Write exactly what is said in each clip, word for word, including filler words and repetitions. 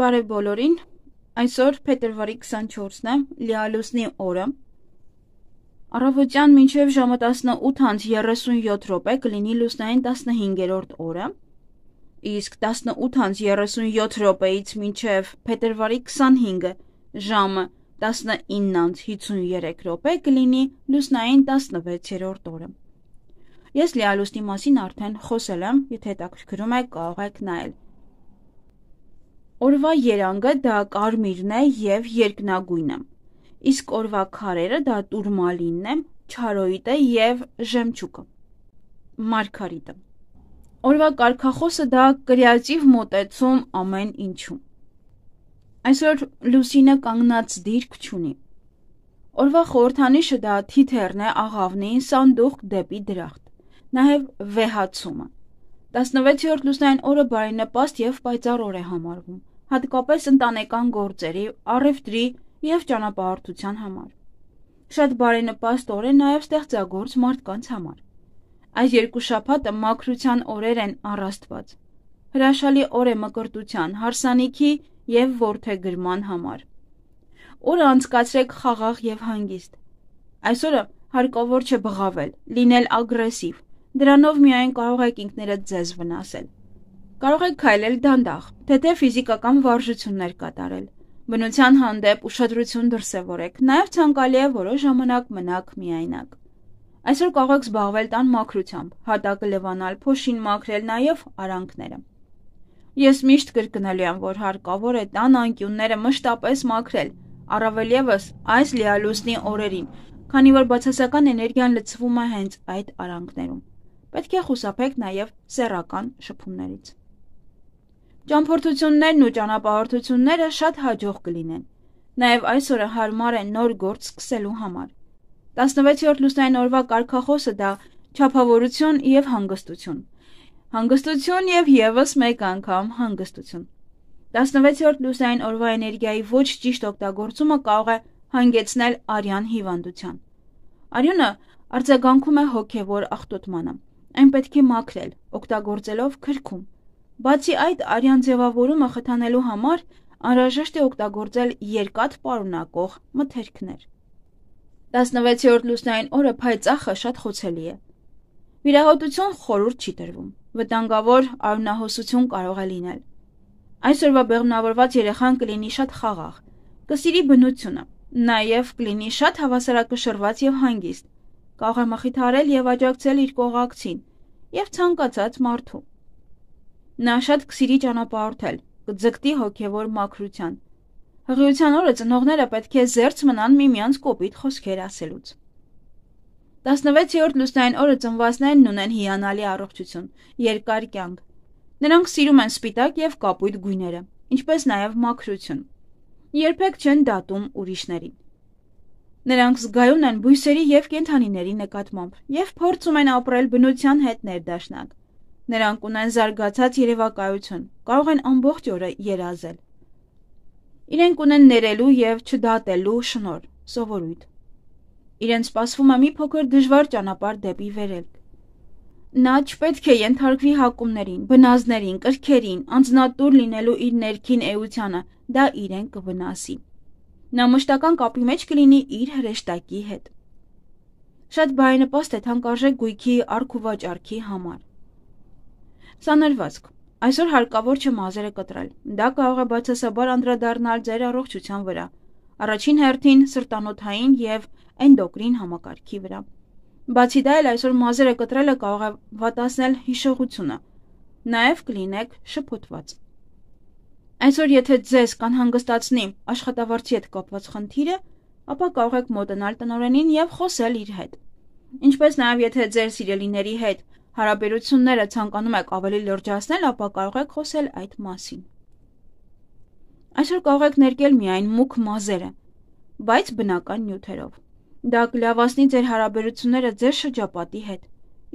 Բարև բոլորին, այսօր փետրվարի քսանչորսն է, լիալուսնի օրը, առավոտյան մինչև ժամը տասնութ անց երեսունյոթ րոպե կլինի լուսնային տասնհինգերորդ օրը, իսկ տասնութ անց երեսունյոթ րոպեից մինչև փետրվարի քսանհինգը ժամը տասնինը անց հիսունյոթ րոպե կլինի լուսնային տասնվեցերորդ օրը։ Ես լիալուսնի մասին արդեն խոսել եմ, եթե հետաքրքրում է կարող եք նայել։ Օրվա երանգը դա կարմիրն է և երկնագույնը, իսկ օրվա քարերը դա տուրմալինն է, չարոյիտը և ժեմչուկը, մարգարիտը։ Օրվա կարգախոսը դա կրեատիվ մոտեցում ամեն ինչում։ Այսօր լուսինը կանգնած դիրք չունի։ Օրվա խորհրդանիշը դա թիթեռն է, աղավնին, սանդուղք դեպի դրախտ, նաև վեհացումը։ տասնվեցերորդ լուսնային օրը բարենպաստ և պայծառ օր է համարվում, հատկապես ընտանեկան գործերի, առևտրի և ճանապարհորդության համար։ Շատ բարենպաստ օր է նաև ստեղծագործ մարդկանց համար։ Այս երկու շաբաթը մաքրության օրեր են առ Աստված։ Հրաշալի օր է մկրտության, հարսանիքի և որդեգրման համար։ Օրը անցկացրեք խաղաղ և հանգիստ։ Այսօրը հարկավոր չէ բղավել, լինել ագրեսիվ, դրանով միայն կարող եք ինքներդ ձեզ վնասել։ Կարող եք քայլել դանդաղ, թեթև ֆիզիկական վարժություններ կատարել, բնության հանդեպ ուշադրություն դրսևորեք, նաև ցանկալի է որոշ ժամանակ մնաք միայնակ։ Այսօր կարող եք զբաղվել տան մաքրությամբ, հատակը լվանալ, փոշին մաքրել, նաև արանքները։ Ես միշտ կրկնելու եմ, որ հարկավոր է տան անկյունները մշտապես մաքրել, առավել ևս այս լիալուսնի օրերին, քանի որ բացասական էներգիան լցվում է հենց այդ արանքներում։ Պետք է խուսափեք նաև սեռական շփումներից։ Ճամփորդություններն ու ճանապարհորդությունները շատ հաջող կլինեն։ Նաև այսօրը հարմար է նոր գործ սկսելու համար։ տասնվեցերորդ լուսնային օրվա կարգախոսը դա չափավորություն և հանգստություն։ Հանգստություն և ևս մեկ անգամ հանգստություն։ տասնվեցերորդ լուսնային օրվա էներգիայի ոչ ճիշտ օգտագործումը կարող է հանգեցնել արյան հիվանդության։ Արյունը արձագանքում է հոգևոր աղտոտմանը։ Այն պետք է մաքրել, օգտագործելով քրքում։ Բացի այդ, արյան ձևավորումը խթանելու համար անհրաժեշտ է օգտագործել երկաթ պարունակող մթերքներ։ տասնվեցերորդ լուսնային օրը փայծախը շատ խոցելի է։ Վիրահոտություն խորհուրդ չի տրվում։ Վտանգավոր արյունահոսություն կարող է լինել։ Այսօրվա բեղմնավորված երեխան կլինի շատ խաղաղ, կսիրի բնությունը, նաև կլինի շատ հավասարակշռված և հանգիստ, կարող է մխիթարել և աջակցել իր կողակցին և ցանկացած մարդու։ Նա շատ կսիրի ճանապարհորդել, կձգտի հոգևոր մաքրության։ Հղիության օրը ծնողները պետք է զերծ մնան միմյանց կոպիտ խոսքեր ասելուց։ տասնվեցերորդ լուսնային օրը ծնվածներն ունեն հիանալի առողջություն, երկար կյանք։ Նրանք սիրում են սպիտակ և կապույտ գույները, ինչպես նաև մաքրություն։ Երբեք չեն դատում ուրիշներին։ Նրանք զգայուն են բույսերի և կենդանիների նկատմամբ և փորձում են ապրել բնության հետ ներդաշնակ։ Նրանք ունեն զարգացած երևակայություն, կարող են ամբողջ օրը երազել։ Իրենք ունեն ներելու և չդատելու շնորհ, սովորույթ։ Իրենց սպասվում է մի փոքր դժվար ճանապարհ դեպի վերելք։ Նա չպետք է ենթարկվի հակումներին, բնազդներին, կրքերին, անձնատուր լինելու իր ներքին էությանը, դա իրեն կվնասի։ Նա մշտական կապի մեջ կլինի իր հրեշտակի հետ։ Շատ բարենպաստ է թանկարժեք գույքի առք-ու-վաճառքի համար։ Սանրվածք։ Այսօր հարկավոր չէ մազերը կտրել։ Դա կարող է բացասաբար անդրադառնալ ձեր առողջության վրա, առաջին հերթին սրտանոթային և էնդոկրին համակարգի վրա։ Բացի դա էլ այսօր մազերը կտրելը կարող է վատացնել հիշողությունը, նաև կլինեք շփոթված։ Այսօր եթե ձեզ կանհանգստացնի աշխատավարձի հետ կապված խնդիրը, ապա կարող եք մոտենալ տնօրենին և խոսել իր հետ։ Ինչպես նաև եթե ձեր սիրելիների հետ հարաբերությունները ցանկանում եք ավելի լրջացնել, ապա կարող եք խոսել այդ մասին։ Այսօր կարող եք ներկել միայն մուգ մազերը, բայց բնական նյութերով։ Դա կլավացնի ձեր հարաբերությունները ձեր շրջապատի հետ,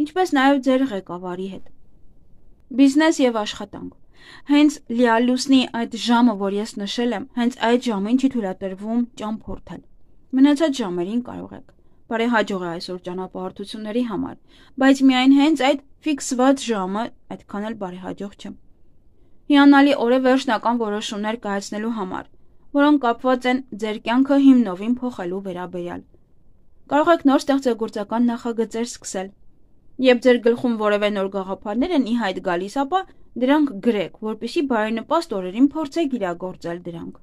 ինչպես նաև ձեր ղեկավարի հետ։ Բիզնես և աշխատանք։ Հենց լիալուսնի այդ ժամը, որ ես նշել եմ, հենց այդ ժամին չի թույլատրվում ճամփորդել։ Մնացած ժամերին կարող եք։ Բարեհաջող է այսօր ճանապարհորդությունների համար, բայց միայն հենց այդ ֆիքսված ժամը այդքան էլ բարեհաջող չէ։ հիանալի օր է վերջնական որոշումներ կայացնելու համար, որոնք կապված են ձեր կյանքը հիմնովին փոխելու վերաբերյալ։ Կարող եք նոր ստեղծագործական նախագծեր սկսել։ Երբ ձեր գլխում որևէ նոր գաղափարներ են ի հայտ գալիս, ապա դրանք գրեք, որպեսզի բարենպաստ օրերին փորձեք իրագործել դրանք։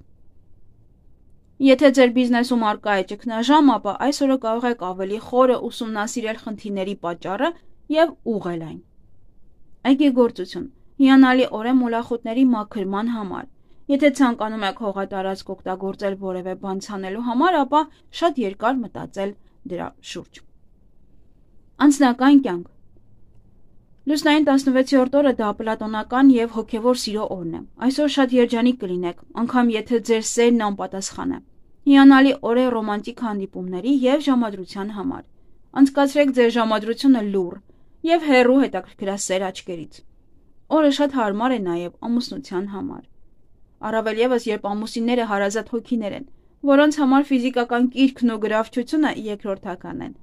Եթե ձեր բիզնեսում առկա է ճգնաժամ, ապա այս օրը կարող եք ավելի խորը ուսումնասիրել խնդիրների պատճառը եւ ուղղել այն։ Այգեգործություն։ Հիանալի օր է մոլախոտների մաքրման համար։ Եթե ցանկանում եք հողատարածք օգտագործել որևէ բան ցանելու համար, ապա շատ երկար մտածել դրա շուրջ։ Անձնական կյանք։ Լուսնային տասնվեցերորդ օրը դա պլատոնական եւ հոգեվոր սիրո օրն է։ Այսօր շատ երջանիկ կլինեք, անգամ եթե ձեր սերն անպատասխան է։ Հիանալի օր է ռոմանտիկ հանդիպումների եւ ժամադրության համար։ Անցկացրեք ձեր ժամադրությունը լուռ եւ հեռու հետաքրքրասեր աչքերից։ Օրը շատ հարմար է նաեւ ամուսնության համար։ Առավել եւս, երբ ամուսինները հարազատ հոգիներ են, որոնց համար ֆիզիկական կիրքն ու գրավչությունը երկրորդական են։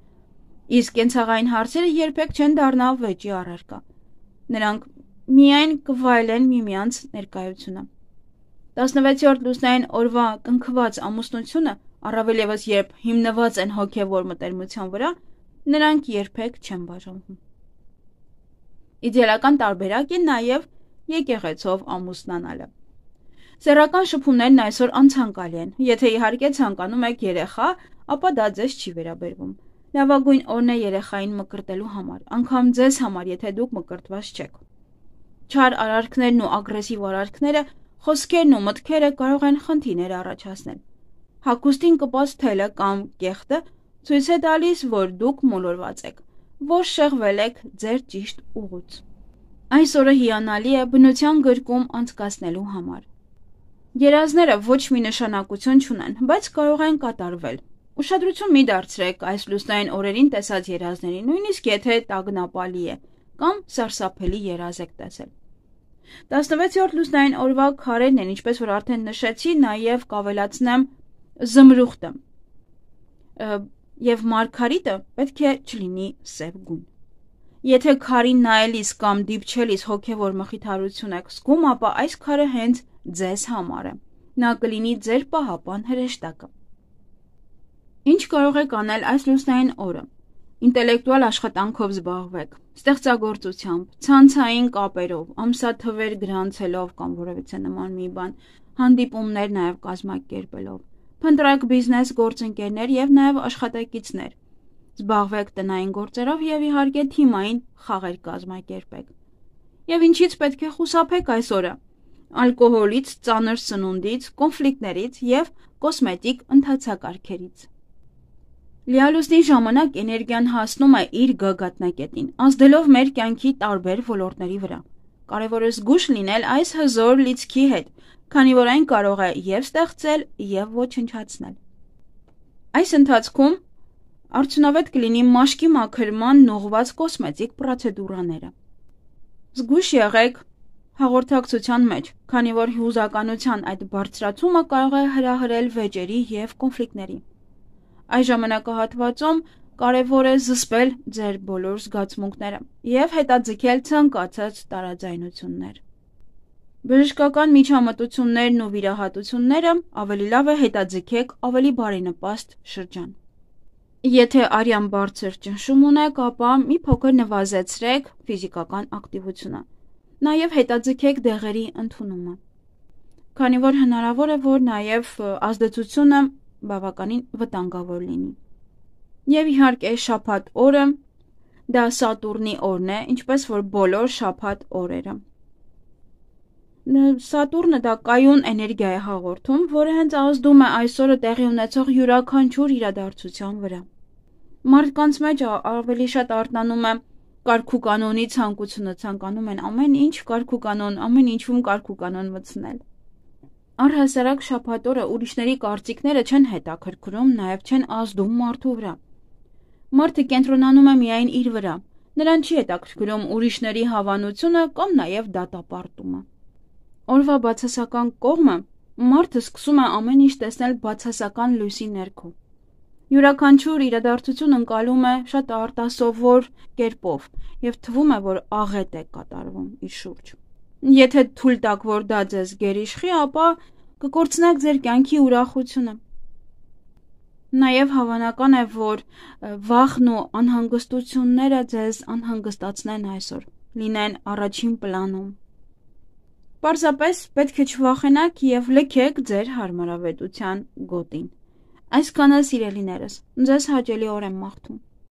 Իսկ կենցաղային հարցերը երբեք չեն դառնա վեճի առարկա։ Նրանք միայն կվայելեն միմյանց ներկայությունը։ տասնվեցերորդ լուսնային օրվա կնքված ամուսնությունը, առավել եւս երբ հիմնված են հոգեվոր մտերմության վրա, նրանք երբեք չեն բաժանվում։ Իդեալական տարբերակ է նաեւ եկեղեցով ամուսնանալը։ Սեռական շփումներն այսօր անցանկալի են։ Եթե իհարկե ցանկանում եք երեխա, ապա դա ձեզ չի վերաբերվում։ Լավագույն օրն է երեխային մկրտելու համար, անգամ ձեզ համար, եթե դուք մկրտված չեք։ Չար արարքներն ու ագրեսիվ արարքները, խոսքերն ու մտքերը կարող են խնդիրներ առաջացնել։ Հագուստին կպած թելը կամ կեղտը ցույց է տալիս, որ դուք մոլորված եք, որ շեղվել եք ձեր ճիշտ ուղուց։ Այս օրը հիանալի է բնության գրկում անցկացնելու համար։ Երազները ոչ մի նշանակություն չունեն, բայց կարող են կատարվել։ Ուշադրություն մի դարձրեք այս լուսնային օրերին տեսած երազներին, նույնիսկ եթե տագնապալի է կամ սարսափելի երազ եք տեսել։ տասնվեցերորդ լուսնային օրվա քարերն են, ինչպես որ արդեն նշեցի, նաև կավելացնեմ զմրուխտը եւ մարգարիտը պետք է չլինի սև գույն։ Եթե քարին նայելիս կամ դիպչելիս հոգեվոր մխիթարություն եք զգում, ապա այս քարը հենց ձեզ համար է։ Նա կլինի ձեր պահապան հրեշտակը։ Ինչ կարող եք անել այս լուսնային օրը։ Ինտելեկտուալ աշխատանքով զբաղվեք, ստեղծագործությամբ, ցանցային կապերով, ամսաթվեր գրանցելով կամ որևիցե նման մի բան, հանդիպումներ նաև կազմակերպելով, փնտրեք բիզնես գործընկերներ եւ նաև աշխատակիցներ, զբաղվեք տնային գործերով եւ իհարկե թիմային խաղեր կազմակերպեք։ Եվ ինչից պետք է խուսափեք այս օրը։ Ալկոհոլից, ծանր սնունդից, կոնֆլիկտներից եւ կոսմետիկ ընթացակարգերից։ Լիալուսնի ժամանակ էներգիան հասնում է իր գագաթնակետին, ազդելով մեր կյանքի տարբեր ոլորտների վրա։ Կարևոր է զգույշ լինել այս հզոր լիցքի հետ, քանի որ այն կարող է եւ ստեղծել եւ ոչնչացնել։ Այս ընթացքում արդյունավետ կլինի մաշկի մաքրման ուղղված կոսմետիկ պրոցեդուրաները։ Զգույշ եղեք հաղորդակցության մեջ, քանի որ հուզականության այդ բարձրացումը կարող է հրահրել վեճերի եւ կոնֆլիկտների։ Այս ժամանակահատվածում կարևոր է զսպել ձեր բոլոր զգացմունքները եւ հետաձգել ցանկացած տարաձայնություններ։ Բժշկական միջամտություններն ու վիրահատությունները ավելի լավ է հետաձգեք ավելի բարենպաստ շրջան։ Եթե արյան բարձր ճնշում ունեք, ապա մի փոքր նվազեցրեք ֆիզիկական ակտիվությունը։ Նաև հետաձգեք դեղերի ընդունումը, քանի որ հնարավոր է, որ նաև ազդեցությունը բավականին վտանգավոր լինի։ Եվ իհարկե շաբաթ օրը դա Սատուրնի օրն է, ինչպես որ բոլոր շաբաթ օրերը։ Սատուրնը դա կայուն էներգիա է հաղորդում, որը հենց ազդում է այսօրը տեղի ունեցող յուրաքանչյուր իրադարձության վրա։ Մարդկանց մեջ ավելի շատ արթնանում է կարգուկանոնի ցանկությունը, ցանկանում են ամեն ինչ կարգուկանոն, ամեն ինչում կարգուկանոն մտցնել։ Առհասարակ շաբաթ օրը ուրիշների կարծիքները չեն հետաքրքրում, նաև չեն ազդում մարդու վրա։ Մարդը կենտրոնանում է միայն իր վրա, նրան չի հետաքրքրում ուրիշների հավանությունը կամ նաև դատապարտումը։ Օրվա բացասական կողմը մարդը սկսում է ամեն ինչ տեսնել բացասական լույսի ներքո։ Յուրաքանչյուր իրադարձություն ընկալում է շատ արտասովոր կերպով եւ թվում է, որ աղետ է կատարվում իր շուրջ։ Եթե թույլ տաք, որ դա ձեզ գերիշխի, ապա կկորցնեք ձեր կյանքի ուրախությունը։ Նաև հավանական է, որ վախն ու անհանգստությունները ձեզ անհանգստացնեն այսօր, լինեն առաջին պլանում։ Պարզապես պետք է չվախենաք և լքեք ձեր հարմարավետության գոտին։ Այսքանը, սիրելիներս, ձեզ հաճելի օր եմ մաղթում։